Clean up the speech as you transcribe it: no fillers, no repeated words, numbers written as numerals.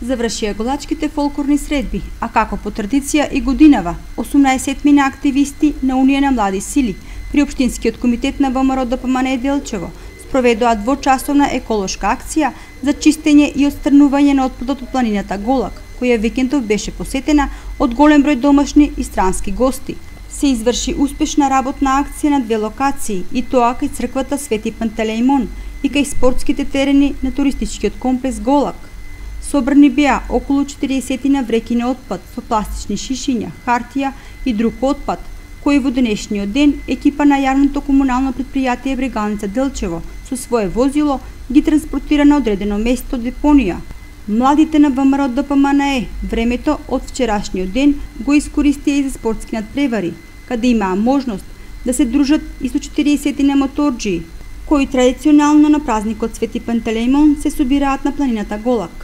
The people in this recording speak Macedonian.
Завршија голачките фолклорни средби, а како по традиција и годинава, 18 активисти на Унија на млади сили при Општинскиот комитет на ВМРО ДПМНЕ Делчево спроведоа двочасовна еколошка акција за чистење и отстранување на отпадот од планината Голак, која викендов беше посетена од голем број домашни и странски гости. Се изврши успешна работна акција на две локации, и тоа кај црквата Свети Пантелеимон и кај спортските терени на туристичкиот комплекс Голак. Собрани беа околу 40 вреќи на отпад со пластични шишиња, хартија и друг отпад, кој во денешниот ден екипа на јавното комунално предпријатие Брегалница Делчево со свое возило ги транспортира на одредено место депонија. Младите на ВМРО ДПМНЕ времето од вчерашниот ден го искористија и за спортски надпревари, каде имаа можност да се дружат и со 40 моторџии, кои традиционално на празникот Свети Пантелеимон се собираат на планината Голак.